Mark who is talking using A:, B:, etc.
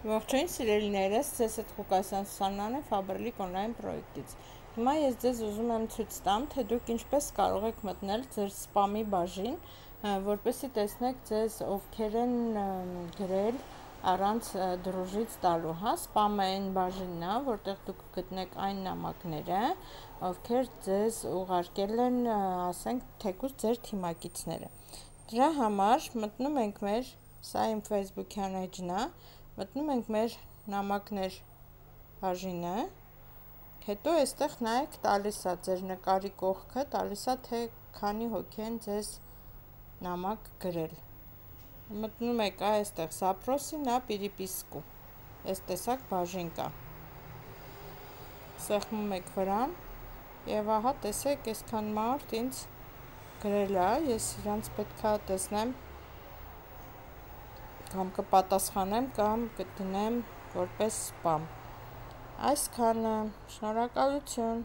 A: Ողջույն սիրելիներս, ձեզ հետ Ղուկասյան Սուսաննան է Faberlic Online պրոյեկտից։ Հիմա ես ձեզ ուզում եմ ցույց տամ, թե դուք ինչպես կարող եք մտնել ձեր սպամի բաժին, որպեսզի տեսնեք ձեզ ովքեր են գրել առանց դրուժից տալու, հա, սպամը այն բաժինն է, որտեղ դուք գտնեք այն նամակները, ովքեր ձեզ ուղարկել են, ասենք, թեկուզ ձեր թիմակիցները։ Դրա համար մտնում ենք մեր, սա իմ Facebook-յան էջն է, մտնում ենք մեր նամակներ բաժինը, հետո այստեղ նայեք տալիս է ձեր նկարի կողքը, տալիս է թե քանի հոգի են ձեզ նամակ գրել։ Մտնում եք այստեղ Սապրոսի նա Պիրիպիսկու, այս տեսակ բաժին կա։ Սեղմում եք վրան և ահա տեսեք այսքան մարդ ինձ գրել է, ես իրանց պետք է տեսնեմ կամ կպատասխանեմ կամ կդնեմ որպես սպամ։ Այսքանը, շնորհակալություն։